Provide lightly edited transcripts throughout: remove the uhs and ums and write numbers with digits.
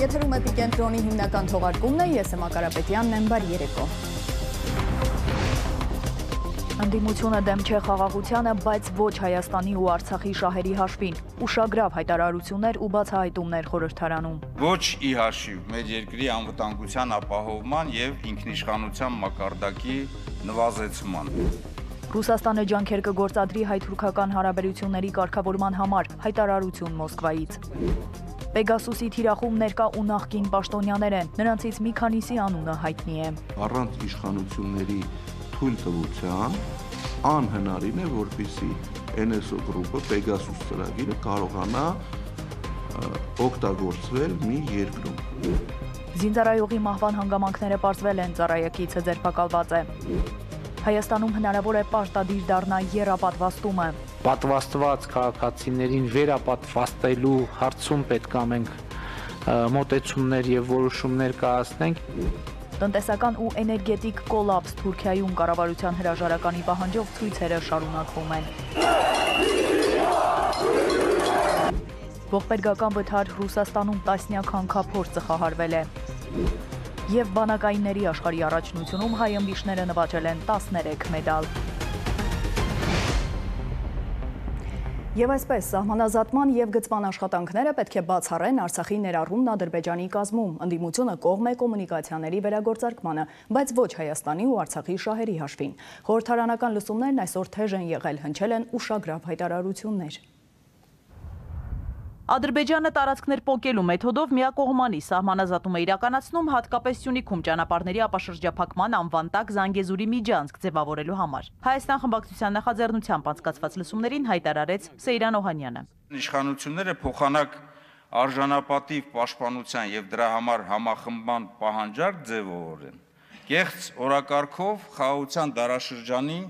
Եթերում Էպիկենտրոնի հիմնական թողարկումն է, ես եմ Ակարապետյանն եմ, բարի երեկո։ Ընդդիմությունը դեմ չէ խաղաղությանը, բայց ոչ Հայաստանի ու Արցախի շահերի հաշվին։ Ուշագրավ հայտարարություններ ու բացահայտումներ խորհրդարանում։ Ոչ ի հաշիվ մեր երկրի անվտանգության ապահովման եւ ինքնիշխանության մակարդակի նվազեցման։ Ռուսաստանը ջանքեր կգործադրի հայ-թուրքական հարաբերությունների կարգավորման համար, հայտարարություն Մոսկվայից։ Պեգասուսի թիրախում ներկա ու նախկին պաշտոնյաներ են, նրանցից մի քանիսի անունը հայտնի է։ Առանց իշխանությունների թույլտվության անհնարին է, որպեսզի NSO գրուպը Պեգասուս ծրագիրը կարողանա օգտագործվել մի երկրում։ Զինծառայողի մահվան հանգամանքները պարզվել են, ծառայակիցը ձերբակալված է։ Հայաստանում հնարավոր է պարտադիր դառնա եռապատվաստումը։ Պատվաստված քաղաքացիներին վերապատվաստելու հարցում պետք է մենք մոտեցումներ եւ որոշումներ կայացնենք։ Տնտեսական ու էներգետիկ կոլապս Թուրքիայում կառավարության հրաժարականի պահանջով ցույցերը շարունակվում են։ Ողբերգական վթար Ռուսաստանում տասնյակ հանքափորձ ծխահարվել է։ Եվ բանակայինների աշխարհի առաջնությունում հայ ըմբիշները նվաճել են 13 մեդալ։ Եվ այսպես, սահմանազատման և գծման աշխատանքները պետք է բացառեն Արցախի ներառումն Ադրբեջանի կազմում, ընդդիմությունը կողմ է կոմունիկացիաների վերագործարկմանը, բայց ոչ Հայաստանի ու Արցախի շահերի հաշվին։ Խորհրդարանական լսումներն այսօր թեժ են եղել, հնչել են ուշագրավ հայտարարություններ։ Ադրբեջանը տարածքներ պոկելու մեթոդով միակողմանի սահմանազատում է իրականացնում հատկապես Սյունիքում ճանապարհների ապաշրջափակման անվան տակ Զանգեզուրի միջանցք ձևավորելու համար։ Հայաստան խմբակցության նախաձեռնությամբ անցկացված լսումներին հայտարարեց Սեյրան Օհանյանը։ Իշխանությունները փոխանակ արժանապատիվ պաշտպանության եւ դրա համար համախմբման պահանջարկ ձևավորեն։ Կեղծ օրակարգով խաղաղության դարաշրջանի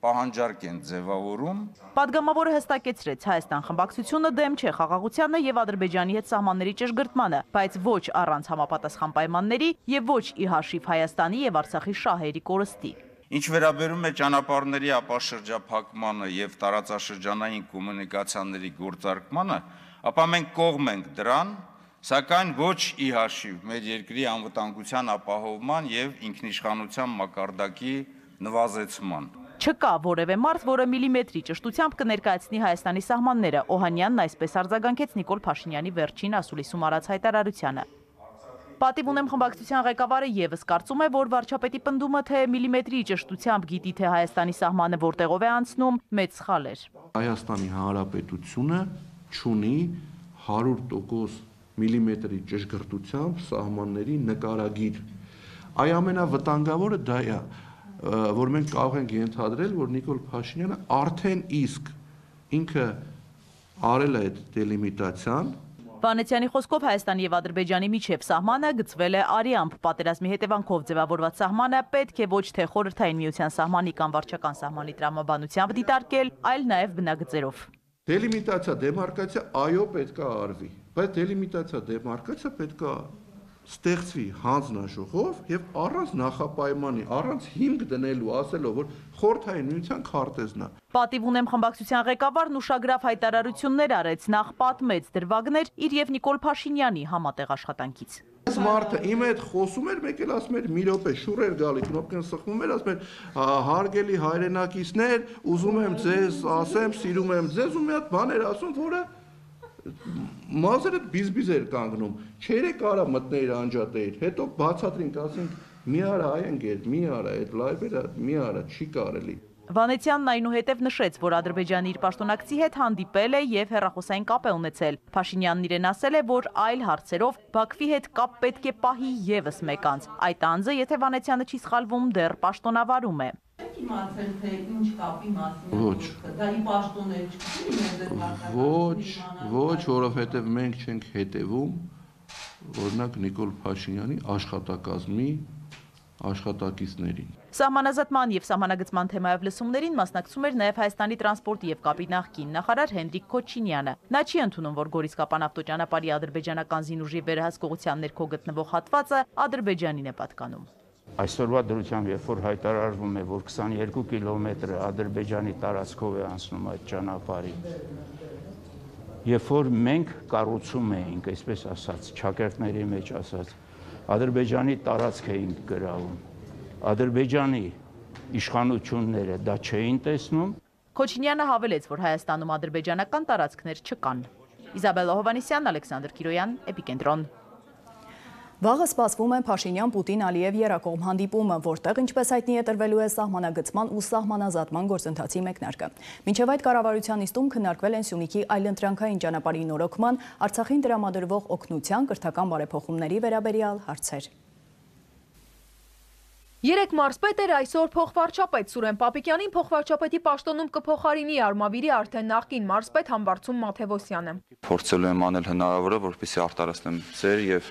պահանջարկ են ձևավորում։ Պատգամավորը հստակեցրեց, Հայաստան խմբակցությունը դեմ չէ խաղաղությանը եւ Ադրբեջանի հետ սահմանների ճշգրտմանը, բայց ոչ առանց համապատասխան պայմանների եւ ոչ ի հաշիվ Հայաստանի եւ Արցախի շահերի կորստի։ Ինչ վերաբերում է ճանապարհների ապաշրջափակմանը եւ տարածաշրջանային կոմունիկացիաների գործարկմանը, ապա մենք կողմ ենք դրան, սակայն ոչ ի հաշիվ մեր երկրի անվտանգության ապահովման եւ ինքնիշխանության մակարդակի նվազեցման։ Չկա որևէ մարդ, որը միլիմետրի ճշտությամբ կներկայացնի Հայաստանի սահմանները, Օհանյանն այսպես արձագանքեց Նիկոլ Փաշինյանի վերջին ասուլիսում արած հայտարարությանը։ Պատիվ ունեմ խմբակցության ղեկավարը եւս կարծում է, որ վարչապետի պնդումը, թե միլիմետրի ճշտությամբ գիտի, թե Հայաստանի սահմանը որտեղով է անցնում, մեծ սխալ էր։ Հայաստանի Հանրապետությունը չունի 100% միլիմետրի ճշգրտությամբ սահմանների նկարագիր։ Այ ամենավտանգավորը դա է, որ մենք կարող ենք ենթադրել, որ Նիկոլ Փաշինյանը արդեն իսկ ինքը արել է այդ դելիմիտացիան։ Վանեցյանի խոսքով Հայաստանի եւ Ադրբեջանի միջև սահմանը գծվել է արիամբ, պատերազմի հետևանքով ձևավորված սահմանը պետք է ոչ թե խորհրդային միության սահմանի կամ վարչական սահմանի տրամաբանությամբ դիտարկել, այլ նաեւ բնագծերով։ Դելիմիտացիա, դեմարկացիա այո պետք է արվի, բայց դելիմիտացիա, դեմարկացիա պետք է ստեղծվի հանձնաժողով եւ առանց նախապայմանի, առանց հիմք դնելու, ասելով, որ խորհրդային միության քարտեզն է։ Պատիվ ունեմ խմբակցության ղեկավարն ուշագրավ հայտարարություններ արեց, նախ պատմեց դրվագներ իր եւ Նիկոլ Փաշինյանի համատեղ աշխատանքից։ Այս մարդը իմ հետ խոսում էր, մեկ էլ ասում էր՝ մի րոպե, շուռ էր գալի, կնոպկան սխվում էր, ասում էր՝ հարգելի հայրենակիցներ, ուզում եմ ձեզ ասեմ, սիրում եմ ձեզ, ու մի հատ բան էր ասում, որը մազերը բիզբիզ էր կանգնում, չերը կարա մտներ անջատեիր, հետո բացատրինք, ասենք մի արա այնգեր, մի արա այդ լայվերը, մի արա, չի կարելի։ Վանեցյանն այնուհետև նշեց, որ Ադրբեջանը իր պաշտոնակցի հետ հանդիպել է եւ հեռախոսային կապ է ունեցել։ Փաշինյանն իրեն ասել է, որ այլ հարցերով Բաքվի հետ կապ պետք է պահի եւս մեկ անձ։ Այդ անձը, եթե Վանեցյանը չի սխալվում, դեռ պաշտոնավարում է։ Իմացել թե ինչ կապի մասին Ոչ։ դա ի պաշտոն է չկա։ Ոչ, որովհետև մենք չենք հետևում, օրինակ Նիկոլ Փաշինյանի աշխատակազմի աշխատակիցներին։ Սահմանազատման եւ սահմանագծման թեմայով լսումներին մասնակցում էր նաեւ Հայաստանի տրանսպորտի եւ կապի նախկին նախարար Հենրիկ Քոչինյանը։ Նա չի ընդունում, որ Գորիս-Կապան ավտոճանապարհի ադրբեջանական զինուժի վերահսկողության ներքո գտնվող հատվածը Ադրբեջանին է պատկանում։ Այսօրվա դրությամբ, երբ որ հայտարարվում է, որ 22 կիլոմետրը Ադրբեջանի տարածքով է անցնում այդ ճանապարհի, երբ որ մենք կառուցում էինք, այսպես ասած, ճակերտների մեջ ասած, Ադրբեջանի տարածք էինք գրավում, Ադրբեջանի իշխանությունները դա չէին տեսնում։ Քոչինյանը հավելեց, որ Հայաստանում ադրբեջանական տարածքներ չկան։ Իզաբելլա Հովհաննիսյան, Ալեքսանդր Կիրոյան, Էպիկենտրոն։ Վաղը սպասվում է Փաշինյան-Պուտին-Ալիև երակողմ հանդիպումը, որտեղ, ինչպես հայտնի է, տրվելու է սահմանագծման ու սահմանազատման գործընթացի մեկնարկը։ Մինչև այդ կառավարության նիստում քննարկվել են Սյունիքի այլընտրանքային ճանապարհի նորոգման, Արցախին տրամադրվող օգնության, կրթական բարեփոխումների վերաբերյալ հարցեր։ Երեք մարզպետ էր, այսօր փոխվարչապետ Սուրեն Պապիկյանին փոխվարչապետի պաշտոնում կփոխարինի Արմավիրի արդեն նախկին մարզպետ Համբարձում Մաթևոսյանը։ Փորձելու եմ անել հնարավորը, որպեսզի արտարացնեմ ձեր եւ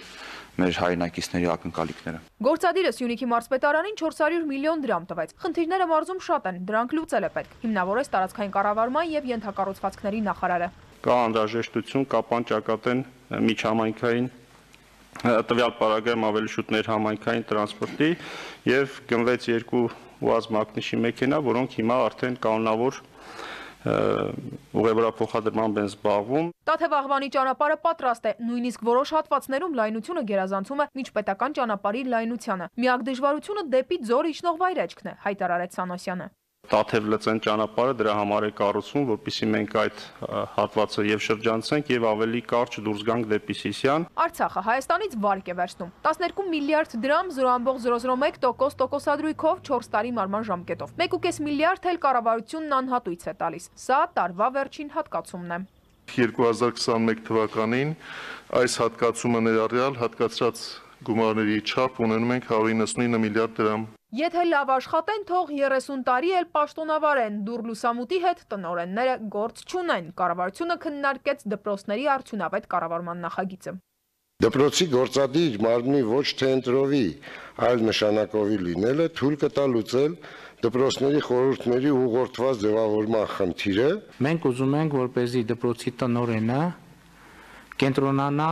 մեր հայրենակիցների ակնկալիքները։ Գործադիրը Սյունիքի մարզպետարանին 400 միլիոն դրամ տվեց։ Խնդիրները մարզում շատ են, դրանք լուծել է պետք։ Հիմնավորեց տարածքային կառավարման եւ ենթակառուցվածքների նախարարը։ Կա անհրաժեշտություն, կա պանճակատեն միջհամայնքային տվյալ պարագայում ավելի շուտ ներհամայնքային տրանսպորտի եւ գնվեց 2 ՈՒԱԶ մակնիշի մեքենա, որոնք հիմա արդեն կանոնավոր ուղևորափոխադրմամբ են զբաղվում։ Տաթևաղվանի ճանապարհը պատրաստ է, նույնիսկ որոշ հատվածներում լայնությունը գերազանցում է միջպետական ճանապարհի լայնությանը։ Միակ դժվարությունը դեպի Ձոր իջնող վայրեջքն է, հայտարարեց Սանոսյանը։ Տաթև-Լծեն ճանապարհը դրա համար է կառուցվում, որպեսզի մենք այդ հատվածը եւ շրջանցենք եւ ավելի կարճ դուրս գանք դեպի Սիսիան։ Արցախը Հայաստանից վարկ է վերցնում 12 միլիարդ դրամ 0.001% տոկոսադրույքով 4 տարի մարման ժամկետով։ 1.5 միլիարդ էլ կառավարությունն անհատույց է տալիս։ Սա տարվա վերջին հատկացումն է։ 2021 թվականին այս հատկացումը ներառյալ հատկացրած գումարների չափ ունենում ենք 199 միլիարդ դրամ։ Եթե լավ աշխատեն, թող 30 տարի էլ պաշտոնավարեն, դուր լուսամուտի հետ տնօրենները գործ չունեն։ Կառավարությունը քննարկեց դպրոցների արդյունավետ կառավարման նախագիծը։ Դպրոցի գործադիր մարմնի ոչ թե ընտրովի, այլ նշանակովի լինելը թույլ կտա լուծել դպրոցների խորհուրդների ուղղորդված ձևավորման խնդիրը։ Մենք ուզում ենք, որպեսզի դպրոցի տնօրենը կենտրոնանա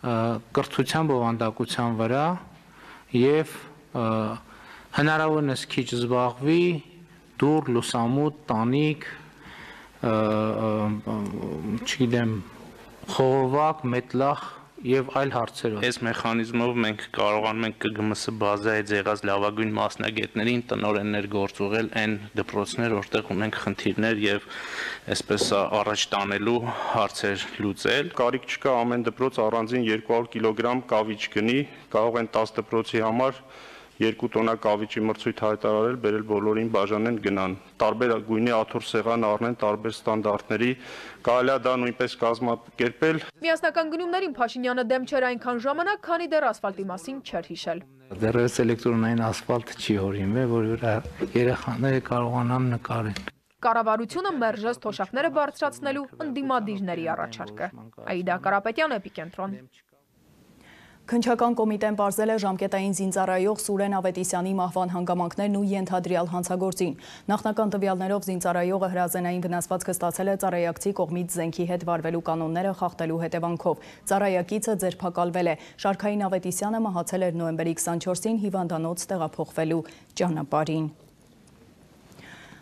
կրթության բովանդակության վրա եւ հնարավորինս քիչ զբաղվի դուր, լուսամուտ, տանիք, չգիտեմ, խողովակ, մետլախ եւ այլ հարցերով։ Այս մեխանիզմով մենք կարողանում ենք ԿԳՄՍ բազայից եղած լավագույն մասնագետներին տնօրեններ գործուղել այն դպրոցներ, որտեղ ունենք խնդիրներ եւ այսպես առաջ տանելու հարցեր լուծել։ Կարիք չկա ամեն դպրոց առանձին 200 կիլոգրամ կավիճ գնի, կարող են 10 դպրոցի համար 2 տոննա կավիճի մրցույթ հայտարարել, բերել բոլորին բաժանեն գնան։ Տարբեր գույնի աթոռ սեղան առնեն տարբեր ստանդարտների, կարելի է դա նույնպես կազմակերպել։ Միասնական գնումներին Փաշինյանը դեմ չէր այնքան ժամանակ, քանի դեռ ասֆալտի մասին չէր հիշել։ Դեռևս էլեկտրոնային ասֆալտ չի հորինվել, որ երեխաները կարողանան նկարել։ Կառավարությունը մերժեց թոշակները բարձրացնելու ընդդիմադիրների առաջարկը։ Աիդա Կարապետյան, Էպիկենտրոն։ Քննչական կոմիտեն պարզել է ժամկետային զինծառայող Սուրեն Ավետիսյանի մահվան հանգամանքներն ու ենթադրյալ հանցագործին։ Նախնական տվյալներով զինծառայողը հրազենային վնասվածքը ստացել է ծառայակցի կողմից զենքի հետ վարվելու կանոնները խախտելու հետևանքով։ Ծառայակիցը ձերբակալվել է։ Շարքային Ավետիսյանը մահացել էր նոյեմբերի 24-ին հիվանդանոց տեղափոխվելու ճանապարհին։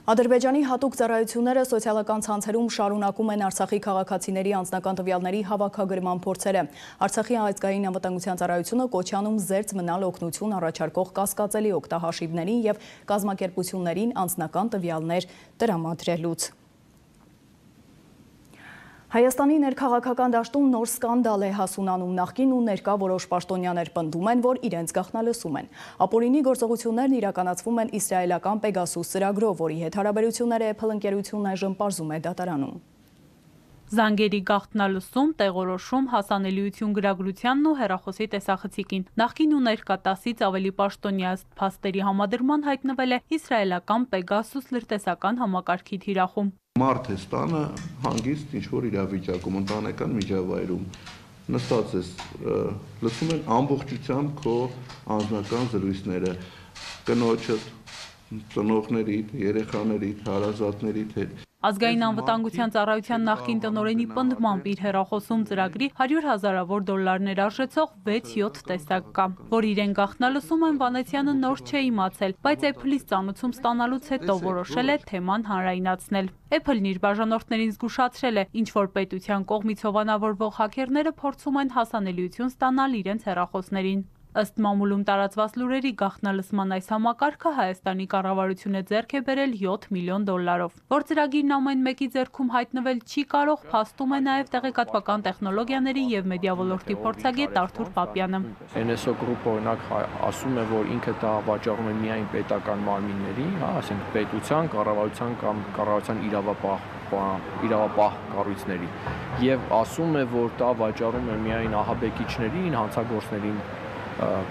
Ադրբեջանի հատուկ ծառայությունները սոցիալական ցանցերում շարունակում են Արցախի քաղաքացիների անձնական տվյալների հավաքագրման փորձերը։ Արցախի ազգային անվտանգության ծառայությունը Կոչյանում զերծ մնալ օգնություն առաջարկող կասկածելի օգտահաշիվներին եւ կազմակերպություններին անձնական տվյալներ տրամադրելուց։ Հայաստանի ներքաղաքական դաշտում նոր սկանդալ է հասունանում, նախկին ու ներկա որոշ պաշտոնյաներ պնդում են, որ իրենց գաղտնալսում են։ Ապօրինի գործողություններն իրականացվում են իսրայելական Պեգասուս ծրագրով, որի հետ հարաբերությունները Apple ընկերությունն այժմ պարզում է դատարանում։ Զանգերի գաղտնալսում, տեղորոշում, հասանելիություն գրագրությանն ու հեռախոսի տեսախցիկին։ Նախկին ու ներկա 10-ից ավելի պաշտոնյա փաստերի համադրման հայտնվել է իսրայելական Պեգասուս լրտեսական համակարգի թիրախում։ Մարդ է ստանը հանգիստ ինչ-որ իրավիճակում, ընտանեկան միջավայրում, նստած ես, լսում են ամբողջությամբ քո անձնական զրույցները, կնոջդ, ծնողներիդ, երեխաներիդ, հարազատներիդ հետ։ Ազգային անվտանգության ծառայության նախկին տնօրենի պնդմամբ իր հեռախոսում ծրագրի $100,000 ներարժեցող 6-7 տեսակ կա, որ իրեն գաղտնալսում են Վանեցյանը նոր չէ իմացել, բայց Apple-ից ծանուցում ստանալուց հետո որոշել է թեման հանրայնացնել։ Apple-ն իր բաժանորդներին զգուշացրել է, ինչ որ պետության կողմից հովանավորվող հաքերները փորձում են հասանելիություն ստանալ իրենց հեռախոսներին։ Ըստ մամուլում տարածված լուրերի գաղտնալսման այս համակարգը Հայաստանի կառավարությունը ձեռք է բերել $7 միլիոն, որ ծրագիրն ամեն մեկի ձեռքում հայտնվել չի կարող, փաստում է նաև տեղեկատվական տեխնոլոգիաների եւ մեդիա ոլորտի փորձագետ Արթուր Պապյանը։ NSO Group-ը օրինակ ասում է, որ ինքը դա վաճառում է միայն պետական մարմինների, ասենք պետության, կառավարության կամ կառավարության իրավապահ կառույցների, եւ ասում է, որ դա վաճառում է միայն ահաբեկիչներին, հանցագործներին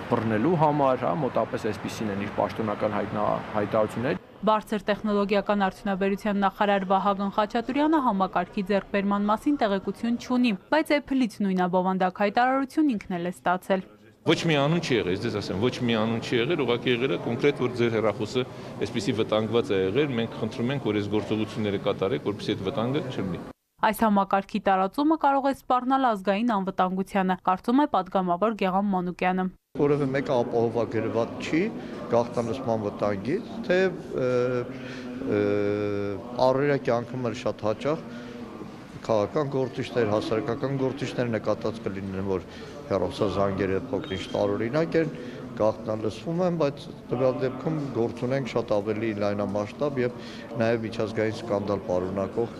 բռնելու համար, մոտապես այսպիսին են իր պաշտոնական հայտարարությունները։ Բարձր տեխնոլոգիական արդյունաբերության նախարար Վահագն Խաչատուրյանը համակարգի ձեռքբերման մասին տեղեկություն չունի, բայց Apple-ից նույնաբովանդակ հայտարարություն ինքն էլ է ստացել։ Ոչ մի անուն չի եղել, ես ասեմ, ոչ մի անուն չի եղել, ուղղակի եղել է կոնկրետ, որ ձեր հեռախոսը այսպիսի վտանգված է եղել, մենք խնդրում ենք, որ այս գործողությունները կատարեք, որպեսզի այդ վտանգը չլինի։ Այս համակարգի տարածումը կարող է սպառնալ ազգային անվտանգությանը, կարծում է պատգամավոր Գեղամ Մանուկյանը։ Որևէ մեկը ապահովագրված չի գաղտնալսման վտանգից, թե առօրյա կյանքում էլ շատ հաճախ քաղաքական գործիչներ, հասարակական գործիչներ նկատած կլինեն, որ հեռախոսազանգերը փոքրինչ տարօրինակ են, գաղտնալսվում են, բայց տվյալ դեպքում գործ ունենք շատ ավելի լայնամասշտաբ եւ նաեւ միջազգային սկանդալ պարունակող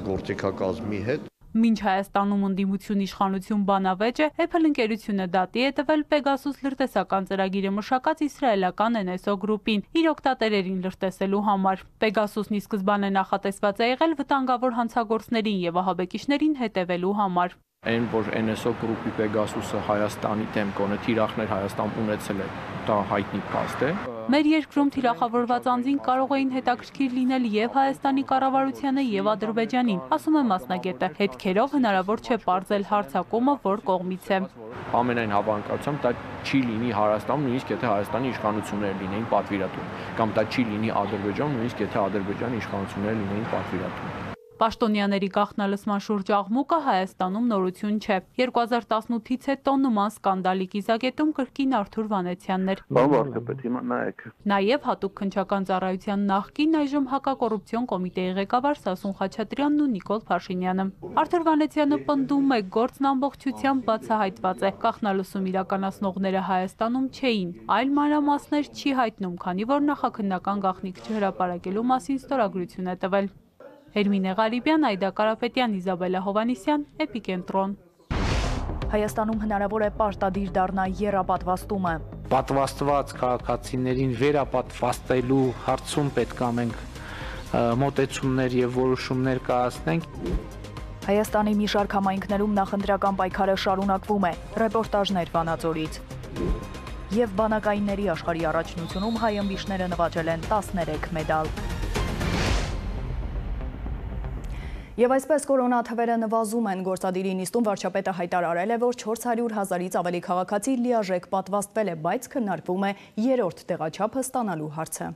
գործիքակազմի հետ։ Մինչ Հայաստանում ընդդիմություն իշխանություն բանավեճ է, Apple ընկերությունը դատի է տվել Pegasus լրտեսական ծրագիրը մշակած իսրայելական NSO Group-ին իր օգտատերերին լրտեսելու համար։ Pegasus-ն ի սկզբանե նախատեսված է եղել վտանգավոր հանցագործներին եւ ահաբեկիչներին հետևելու համար։ Այն որ NSO Group-ի Pegasus-ը Հայաստանի դեմ կոնե թիրախներ Հայաստան ունեցել է, դա հայտնի փաստ է։ Մեր երկրում թիրախավորված անձին կարող էին հետաքրքիր լինել եւ Հայաստանի կառավարությանը եւ Ադրբեջանին, ասում է մասնագետը։ Հետքերով հնարավոր չէ պարզել հարձակումը որ կողմից է։ Ամենայն հավանականությամբ դա չի լինի Հայաստանում, նույնիսկ եթե Հայաստանի իշխանությունները լինեին պատվիրատու, կամ դա չի լինի Ադրբեջանում, նույնիսկ եթե Ադրբեջանի իշխանությունները լինեին պատվիրատու։ Պաշտոնյաների գաղտնալսման շուրջ աղմուկը Հայաստանում նորություն չէ։ 2018-ից հետո նման սկանդալի կիզակետում կրկին Արթուր Վանեցյանն էր։ Նաև հատուկ քննչական ծառայության նախկին այժմ հակակոռուպցիոն կոմիտեի ղեկավար Սասուն Խաչատրյանն ու Նիկոլ Փաշինյանը։ Արթուր Վանեցյանը պնդում է, գործն ամբողջությամբ բացահայտված է։ Գաղտնալսում իրականացնողները Հայաստանում չէին, այլ մանրամասներ չի հայտնում, քանի որ նախաքննական գաղտնիք չհրապարակելու մասին ստորագրություն է տվել։ Հերմինե Ղարիբյան, Այդա Կարապետյան, Իզաբելա Հովանիսյան, Էպիկենտրոն։ Հայաստանում հնարավոր է պարտադիր դառնա եռապատվաստումը։ Պատվաստված քաղաքացիներին վերապատվաստելու հարցում պետք է մենք մոտեցումներ եւ որոշումներ կայացնենք։ Հայաստանի մի շարք համայնքներում նախընտրական պայքարը շարունակվում է։ Ռեպորտաժներ Վանաձորից։ Եվ բանակայինների աշխարհի առաջնությունում հայ ըմբիշները նվաճել են 13 մեդալ։ Եվ այսպես կորոնա թվերը նվազում են, գործադիրի նիստում վարչապետը հայտարարել է, որ 400,000-ից ավելի քաղաքացի լիարժեք պատվաստվել է, բայց քննարկվում է երրորդ տեղաչափը ստանալու հարցը։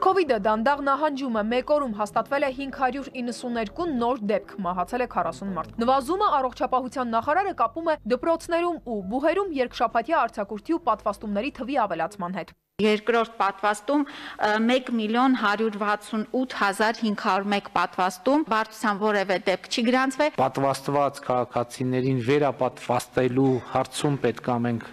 Քովիդը դանդաղ նահանջում է, մեկ օրում հաստատվել է 592 նոր դեպք, մահացել է 40 մարդ։ Նվազումը առողջապահության նախարարը կապում է դպրոցներում ու բուհերում երկշաբաթյա արձակուրդի ու պատվաստումների թվի ավելացման հետ։ Երկրորդ պատվաստում 1,168,501 պատվաստում, բարդության որևէ դեպք չի գրանցվել։ Պատվաստված քաղաքացիներին վերապատվաստելու հարցում պետք է մենք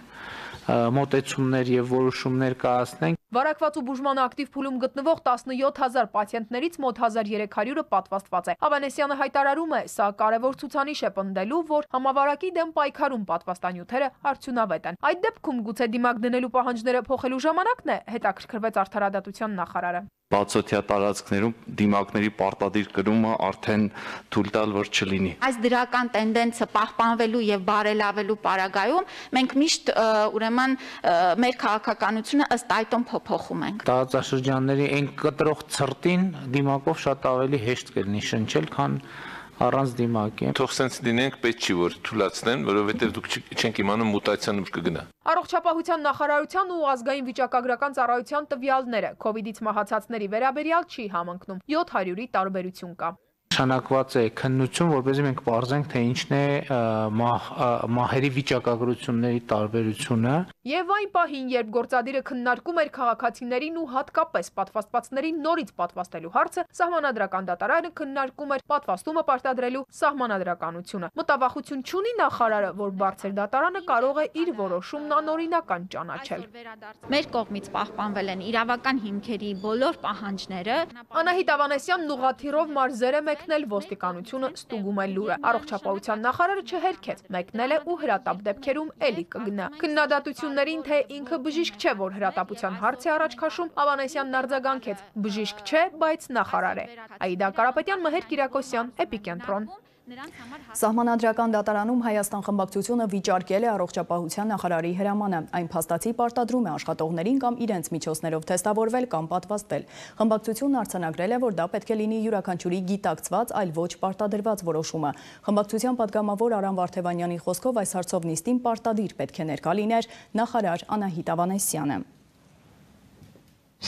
մոտեցումներ եւ որոշումներ կայացնենք։ Վարակված ու բուժման ակտիվ փուլում գտնվող 17,000 պացիենտներից մոտ 1300-ը պատվաստված է։ Ավանեսյանը հայտարարում է, սա կարևոր ցուցանիշ է պնդելու, որ համավարակի դեմ պայքարում պատվաստանյութերը արդյունավետ են։ Այդ դեպքում գուցե դիմակ դնելու պահանջները փոխելու ժամանակն է, հետաքրքրվեց Արդարադատության նախարարը։ Բացօթյա տարածքներում դիմակների պարտադիր կրումը արդեն թույլ տալ որ չլինի։ Այս դրական տենդենսը պահպանվելու եւ բարելավելու պարագայում մենք միշտ ուրեմն մեր քաղաքականությունը ըստ այդոն փոփոխում ենք։ Տարածաշրջանների այն կտրող ցրտին դիմակով շատ ավելի հեշտ կլինի շնչել, քան Առանց դիմակի։ Թող սենց լինենք, պետք չի որ թույլատնեն, որովհետև դուք չենք իմանում մուտացիան ուր կգնա։ Առողջապահության նախարարության ու ազգային վիճակագրական ծառայության տվյալները COVID-ից մահացածների վերաբերյալ չի համընկնում։ 700-ի տարբերություն կա։ Նշանակված է քննություն, որպեսզի մենք պարզենք, թե ինչն է մահերի վիճակագրությունների տարբերությունը։ Եվ այն պահին, երբ գործադիրը քննարկում էր քաղաքացիներին ու հատկապես պատվաստվածներին նորից պատվաստելու հարցը, Սահմանադրական դատարանը քննարկում էր պատվաստումը պարտադրելու սահմանադրականությունը։ Մտավախություն չունի նախարարը, որ բարձր դատարանը կարող է իր որոշումն անօրինական ճանաչել։ Մեր կողմից պահպանվել են իրավական հիմքերի բոլոր պահանջները։ Անահիտ Ավանեսյանն ուղղաթիռով մարզեր է մեկնել, ոստիկանությունը ստուգում է լուրը։ Առողջապահության նախարարը չհերքեց, մեկնել է ու հրատապ դեպքերում էլի կգնա։ Քննադատություններին, թե ինքը բժիշկ չէ, որ հրատապության հարց է առաջ քաշում, Ավանեսյանն արձագանքեց. բժիշկ չէ, բայց նախարար է։ Աիդա Կարապետյան, Մհեր Կիրակոսյան, Էպիկենտրոն։ Սահմանադրական դատարանում Հայաստան խմբակցությունը վիճարկել է առողջապահության նախարարի հրամանը։ Այն փաստացի պարտադրում է աշխատողներին կամ իրենց միջոցներով թեստավորվել կամ պատվաստվել։ Խմբակցությունն արձանագրել է, որ դա պետք է լինի յուրաքանչյուրի գիտակցված, այլ ոչ պարտադրված որոշումը։ Խմբակցության պատգամավոր Արամ Վարդևանյանի խոսքով այս հարցով նիստին պարտադիր պետք է ներկա լիներ նախարար Անահիտ Ավանեսյանը։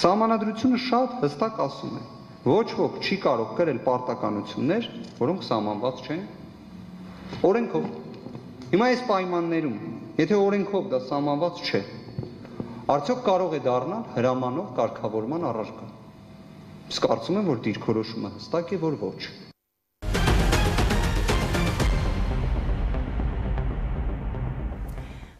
Սահմանադրությունը շատ հստակ ասում է. ոչ ոք չի կարող կրել պարտականություններ, որոնք սահմանված չեն օրենքով։ Հիմա այս պայմաններում, եթե օրենքով դա սահմանված չէ, արդյոք կարող է դառնալ հրամանով կարգավորման առարկա։ Իսկ կարծում եմ, որ դիրքորոշումը հստակ է, որ ոչ։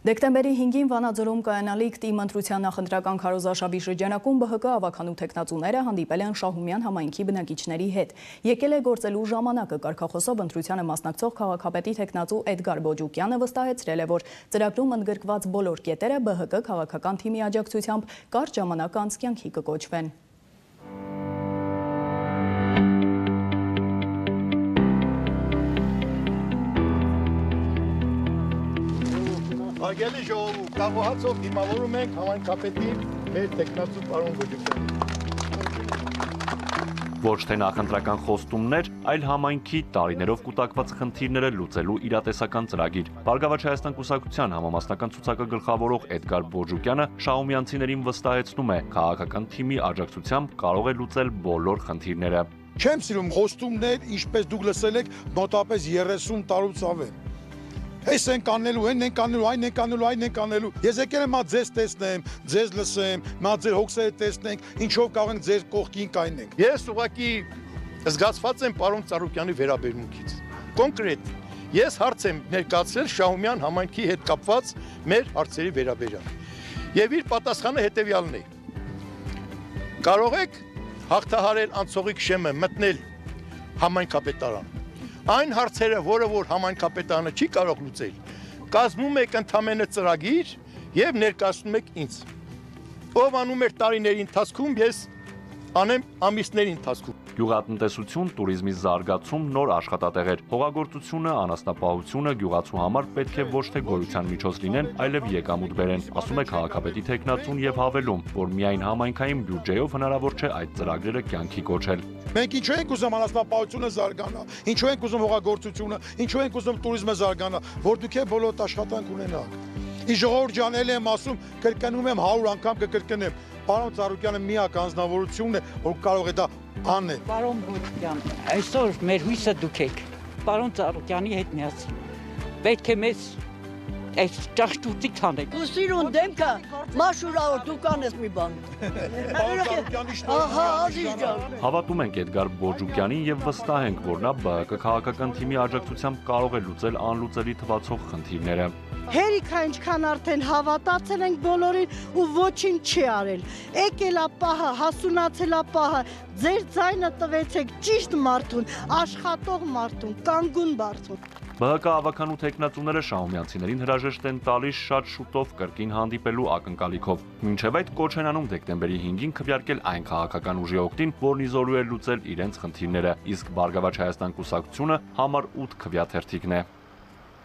Դեկտեմբերի 5-ին Վանաձորում կայանալիք ՏԻՄ ընտրության նախընտրական քարոզարշավի շրջանակում ԲՀԿ ավականու տեխնացուները հանդիպել են Շահումյան համայնքի բնակիչների հետ։ Եկել է գործելու ժամանակը, կարգախոսով ընտրությանը մասնակցող քաղաքապետի տեխնացու Էդգար Բոջուկյանը վստահեցրել է, որ ծրագրում ընդգրկված բոլոր կետերը ԲՀԿ քաղաքական թիմի աջակցությամբ կարճ ժամանակ անց կյանքի կկոչվեն։ Հարգելի ժողովուրդ, կաղոհացով դիմավորում ենք համայնքապետին մեր տեխնացու պարոն Բոջուկյանին։ Ոչ թե նախընտրական խոստումներ, այլ համայնքի տարիներով կուտակված խնդիրները լուծելու իրատեսական ծրագիր։ Բարգավաճ Հայաստան կուսակցության համամասնական ցուցակը գլխավորող Էդգար Բոջուկյանը շահումյանցիներին վստահեցնում է, քաղաքական թիմի աջակցությամբ կարող է լուծել բոլոր խնդիրները։ Չեմ սիրում խոստումներ, ինչպես դուք լսել եք, մոտավորապես 30 տարուց ավել։ Այս ենք անելու, այն ենք անելու, այն ենք անելու, այն ենք անելու։ Ես եկել եմ ձեզ տեսնեմ, ձեզ լսեմ, ձեր հոգսերը տեսնենք, ինչով կարող ենք ձեր կողքին կայնենք։ Ես ուղղակի զգացված եմ պարոն Ծառուկյանի վերաբերմունքից։ Կոնկրետ, ես հարց եմ ներկայացրել Շահումյան համայնքի հետ կապված մեր հարցերի վերաբերյալ։ Եվ իր պատասխանը հետևյալն է. կարող եք հաղթահարել անցողիկ շեմը, մտնել համայնքապետարան։ Այն հարցերը, որը որ համայնքապետարանը չի կարող լուծել, կազմում եք ընդամենը ծրագիր եւ ներկայացնում եք ինձ։ Ով անում էր տարիների ընթացքում, ես անեմ ամիսների ընթացքում։ Գյուղատնտեսություն, туриզմի զարգացում, նոր աշխատատեղեր, հողագործությունը, անասնապահությունը գյուղացու համար պետք է ոչ թե գոյության միջոց լինեն, այլև եկամուտ բերեն, ասում է քաղաքապետի տեխնացուն եւ հավելում, որ միայն համայնքային բյուջեով հնարավոր չէ այդ ծրագրերը կյանքի կոչել։ Մենք ինչու ենք ուզում անասնապահությունը զարգանա, ինչու ենք ուզում հողագործությունը, ինչու ենք ուզում туриզմը զարգանա, որ դուք է բոլոր աշխատանք ունենաք։ Ի ժողովուրդ ջան, էլ եմ ասում, կրկնում եմ 100 անգամ կկրկնեմ։ Պարոն Ծառուկյանը միակ անձնավորությունն է, որ կարող է դա անել։ Պարոն Բոջուկյան, այսօր մեր հույսը դուք եք։ Պարոն Ծառուկյանի հետ միասին։ Պետք է մեզ այս ճաշտուտիկ անեք։ Դու սիրուն դեմքը մաշուրավոր դու կանես մի բան։ Ահա, ազիզ ջան։ Հավատում ենք Էդգար Բոջուկյանին եւ վստահ ենք, որ նա ԲՀԿ քաղաքական թիմի աջակցությամբ կարող է լուծել անլուծելի թվացող խնդիրները։ Հերիքա ինչքան արդեն հավատացել ենք բոլորին ու ոչինչ չի արել։ Եկել է պահը, հասունացել է պահը, ձեր ձայնը տվեցեք ճիշտ մարդուն, աշխատող մարդուն, կանգուն մարդուն։ ԲՀԿ ավականու տեխնացուները շահումյանցիներին հրաժեշտ են տալիս շատ շուտով կրկին հանդիպելու ակնկալիքով։ Մինչև այդ կոչ են անում դեկտեմբերի 5-ին քվեարկել այն քաղաքական ուժի օգտին, որն իզորու է լուծել իրենց խնդիրները, իսկ Բարգավաճ Հայաստան կուսակցությունը համար 8 քվեաթերթիկն է։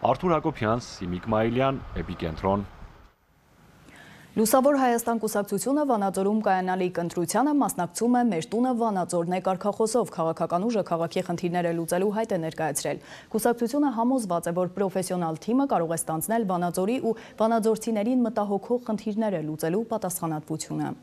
Արթուր Հակոբյան, Սիմիկ Մայիլյան, Էպիկենտրոն։ Լուսավոր Հայաստան կուսակցությունը Վանաձորում կայանալիք ընտրությանը մասնակցում է «Մեր տունը Վանաձորն է» կարգախոսով, քաղաքական ուժը քաղաքի խնդիրները լուծելու հայտ է ներկայացրել։ Կուսակցությունը համոզված է, որ պրոֆեսիոնալ թիմը կարող է ստանձնել Վանաձորի ու վանաձորցիներին մտահոգող խնդիրները լուծելու պատասխանատվությունը։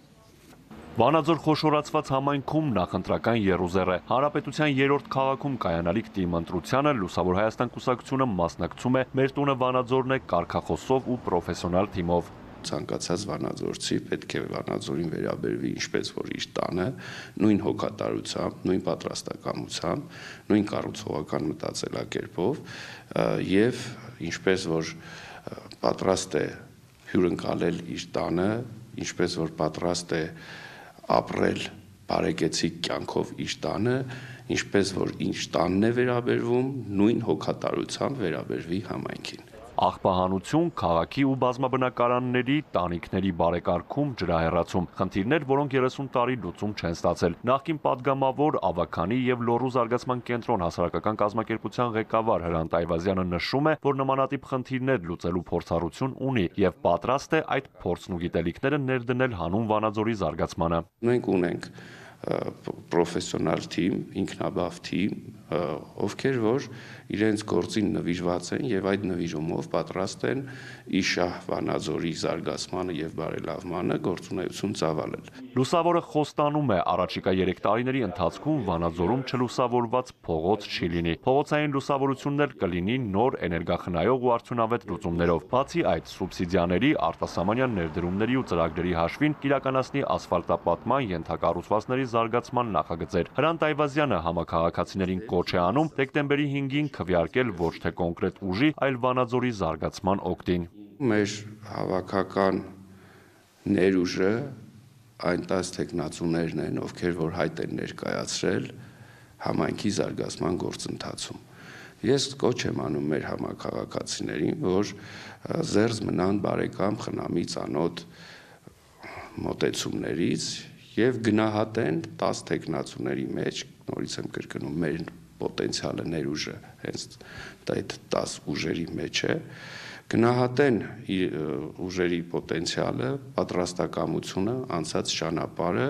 Վանաձոր խոշորացված համայնքում նախընտրական եռուզեռ է։ Հանրապետության 3-րդ քաղաքում կայանալիք թիմ ընտրությանը Լուսավոր Հայաստան կուսակցությունը մասնակցում է «Մեր տունը Վանաձորն է» կարգախոսով ու պրոֆեսիոնալ թիմով։ Ցանկացած վանաձորցի պետք է Վանաձորին վերաբերվի ինչպես որ իր տանը, նույն հոգատարությամբ, նույն պատրաստակամությամբ, նույն կառուցողական մտածելակերպով եւ ինչպես որ պատրաստ է հյուրընկալել իր տանը, ինչպես որ պատրաստ է ապրել բարեկեցիկ կյանքով իր տանը, ինչպես որ ինչ տանն է վերաբերվում, նույն հոգատարությամբ վերաբերվի համայնքին։ Աղբահանություն, քաղաքի ու բազմաբնակարանների, տանիքների բարեկարգում, ջրահեռացում, խնդիրներ, որոնք 30 տարի լուծում չեն ստացել։ Նախկին падգամավոր, Ավագանի եւ Լոռու զարգացման կենտրոն հասարակական կազմակերպության ղեկավար Հրանտ Այվազյանը նշում է, որ նմանատիպ խնդիրներ լուծելու փորձառություն ունի եւ պատրաստ է այդ փորձն ու գիտելիքները ներդնել հանուն Վանաձորի զարգացմանը։ Մենք ունենք պրոֆեսիոնալ թիմ, ինքնաբավ թիմ, ովքեր որ իրենց գործին նվիրված են եւ այդ նվիրումով պատրաստ են իշահ Վանաձորի զարգացմանը եւ բարելավմանը գործունեություն ծավալել։ Լուսավորը խոստանում է առաջիկա 3 տարիների ընթացքում Վանաձորում չլուսավորված փողոց չի լինի։ Փողոցային լուսավորություններ կլինի նոր էներգախնայող ու արդյունավետ լուծումներով։ Բացի այդ, սուբսիդիաների, արտասահմանյան ներդրումների ու ծրագրերի հաշվին կիրականացնի ասֆալտապատման, ենթակառուցվածքների զարգացման նախագծեր։ Հրանտ Այվազյանը համաքաղաքացիներին կոչ է անում դեկտեմբերի 5-ին քվեարկել ոչ թե կոնկրետ ուժի, այլ Վանաձորի զարգացման օգտին։ Մեր հավաքական ներուժը այն 10 տեխնացուներն են, ովքեր որ հայտ են ներկայացրել համայնքի զարգացման գործընթացում։ Ես կոչ եմ անում մեր համաքաղաքացիներին, որ զերծ մնան բարեկամ խնամի ծանոթ մոտեցումներից եւ գնահատեն 10 տեխնացուների մեջ, նորից եմ կրկնում, մեր պոտենցիալը ներուժը հենց այդ 10 ուժերի մեջ է, գնահատեն ուժերի պոտենցիալը, պատրաստակամությունը, անցած ճանապարհը,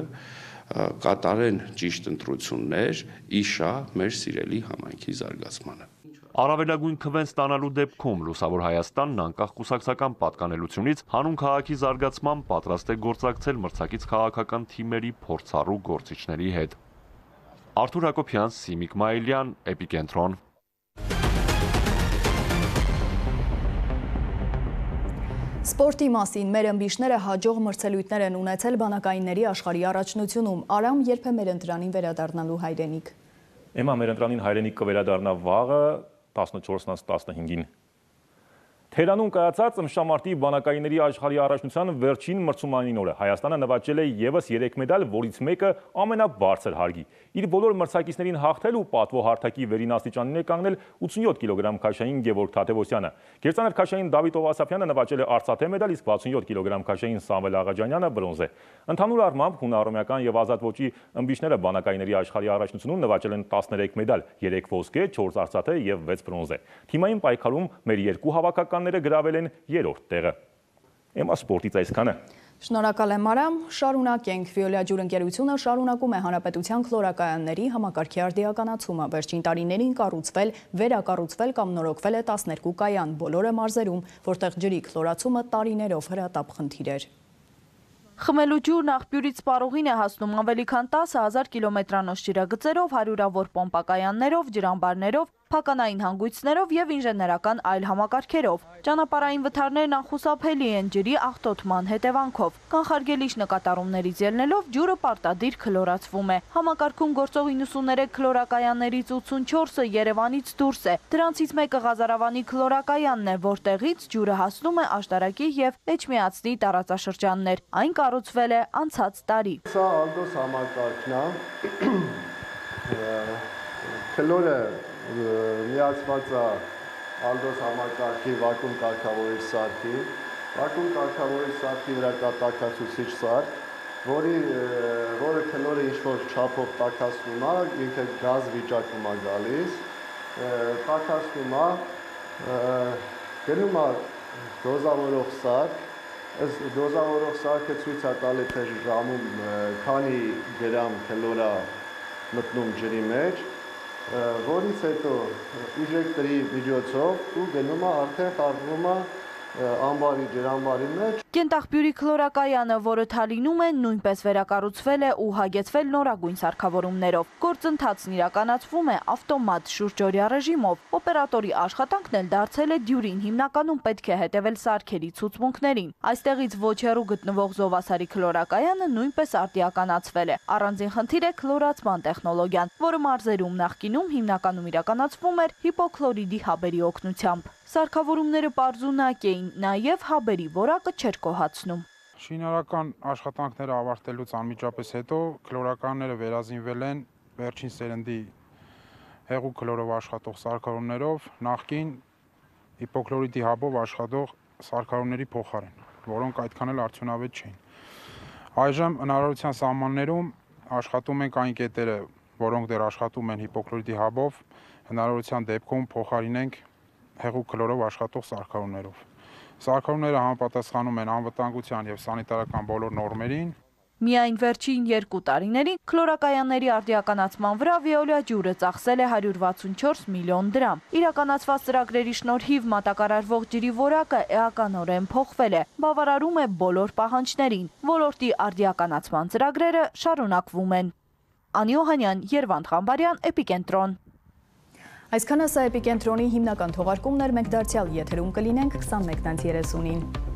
կատարեն ճիշտ ընտրություններ, իշահ մեր սիրելի համայնքի զարգացմանը։ Առավելագույն քվեն ստանալու դեպքում Լուսավոր Հայաստանն անկախ կուսակցական պատկանելությունից հանուն քաղաքի զարգացման պատրաստ է գործակցել մրցակից քաղաքական թիմերի փորձառու գործիչների հետ։ Արթուր Հակոբյան, Սիմիկ Մայիլյան, Էպիկենտրոն։ Սպորտի մասին մեր ըմբիշները հաջող մրցելույթներ են ունեցել բանակայինների աշխարհի առաջնությունում։ Արամ երբ է մեր ընտրանին վերադառնալու հայրենիք։ Էմա մեր ընտրանին հայրենիք կվերադառնա վաղը 14-15-ին։ Թերանում կայացած ըմբշամարտի բանակայինների աշխարհի առաջնության վերջին մրցումային օրը Հայաստանը նվաճել է եւս 3 մեդալ, որից մեկը ամենաբարձր հարգի։ Իր բոլոր մրցակիցներին հաղթել ու պատվո հարթակի վերին աստիճանին է կանգնել 87 կիլոգրամ քաշային Գևորգ Թադևոսյանը։ Գերծանր քաշային Դավիթ Ովասափյանը նվաճել է արծաթե մեդալ, իսկ 67 կիլոգրամ քաշային Սամվել Աղաջանյանը բրոնզե։ Ընդհանուր առմամբ հունարոմեական եւ ազատ ոճի ըմբիշները բանակայինների աշխարհի առաջնությունում նվաճել են 13 մեդալ, 3 ոսկե, 4 արծաթե եւ 6 բրոնզե։ Թիմային պայքարում մեր երկու հավաքականները գրավել են 3-րդ տեղը։ Էմա սպորտից այսքանը։ Շնորհակալ եմ Արամ, շարունակենք։ Վիոլիա ջուր ընկերությունը շարունակում է հանրապետության քլորակայանների համակարգի արդիականացումը։ Վերջին տարիներին կառուցվել, վերակառուցվել կամ նորոգվել է 12 կայան, բոլորը մարզերում, որտեղ ջրի քլորացումը տարիներով հրատապ խնդիր էր։ Խմելու ջուրն աղբյուրից սպառողին է հասնում ավելի քան 10,000 կիլոմետրանոց ջրագծերով, հարյուրավոր պոմպակայաններով, ջրամբարներով, փականային հանգույցներով եւ ինժեներական այլ համակարգերով։ Ճանապարհային վթարներն անխուսափելի են ջրի աղտոտման հետևանքով։ Կանխարգելիչ նկատառումներից ելնելով ջուրը պարտադիր քլորացվում է։ Համակարգում գործող 93 քլորակայաններից 84-ը Երևանից դուրս է։ Դրանցից մեկը Ղազարավանի քլորակայանն է, որտեղից ջուրը հասնում է Աշտարակի եւ Էջմիածնի տարածաշրջաններ։ Այն կառուցվել է անցած տարի։ Սա Ալդոս համակարգն է։ Քլորը միացված է Ալդոս համակարգի վակուում կարգավորիչ սարքի, վակուում կարգավորիչ սարքի վրա կա տաքացուցիչ սարք, որը քլորը ինչ-որ չափով տաքացնում է, ինքը գազ վիճակում է գալիս, տաքացնում է, գնում է դոզավորող սարք, Այս դոզավորող սարքը ցույց է տալի թե ժամում քանի գրամ քլորա մտնում ջրի մեջ, որից հետո իժեկտորի միջոցով ու գնում է արդեն խառնվում է ամբարի ջրամբարի մեջ։ Կենտաղբյուրի քլորակայանը, որը Թալինում է, նույնպես վերակառուցվել է ու հագեցվել նորագույն սարքավորումներով։ Գործընթացն իրականացվում է ավտոմատ շուրջօրյա ռեժիմով։ Օպերատորի աշխատանքն էլ դարձել է դյուրին, հիմնականում պետք է հետևել սարքերի ցուցմունքներին։ Այստեղից ոչ հեռու գտնվող Զովասարի քլորակայանը նույնպես արդիականացվել է։ Առանձին խնդիր է քլորացման տեխնոլոգիան, որը մարզերում նախկինում հիմնականում իրականացվում էր հիպոքլորիդի հաբերի օգնությամբ։ Սարքավորումները պարզունակ էին, նաև հաբերի որակը չէր գոհացնում։ Շինարարական աշխատանքները ավարտելուց անմիջապես հետո քլորականները վերազինվել են վերջին սերնդի հեղուկ քլորով աշխատող սարքավորումներով, նախկին հիպոքլորիդի հաբով աշխատող սարքավորումների փոխարեն, որոնք այդքան էլ արդյունավետ չէին։ Այժմ հնարավորության սահմաններում աշխատում ենք այն կետերը, որոնք դեռ աշխատում են հիպոքլորիդի հաբով, հնարավորության դեպքում փոխարինենք հեղուկ քլորով աշխատող սարքավորումներով։ Սարքավորումները համապատասխանում են անվտանգության եւ սանիտարական բոլոր նորմերին։ Միայն վերջին 2 տարիներին քլորակայանների արդիականացման վրա Veolia ջուրը ծախսել է 164 միլիոն դրամ։ Իրականացված ծրագրերի շնորհիվ մատակարարվող ջրի որակը էականորեն փոխվել է, բավարարում է բոլոր պահանջներին։ Ոլորտի արդիականացման ծրագրերը շարունակվում են։ Անի Օհանյան, Երվանդ Ղամբարյան, Էպիկենտրոն։ Այսքանը սա Էպիկենտրոնի հիմնական թողարկումն էր, մենք դարձյալ եթերում կլինենք 21:30-ին։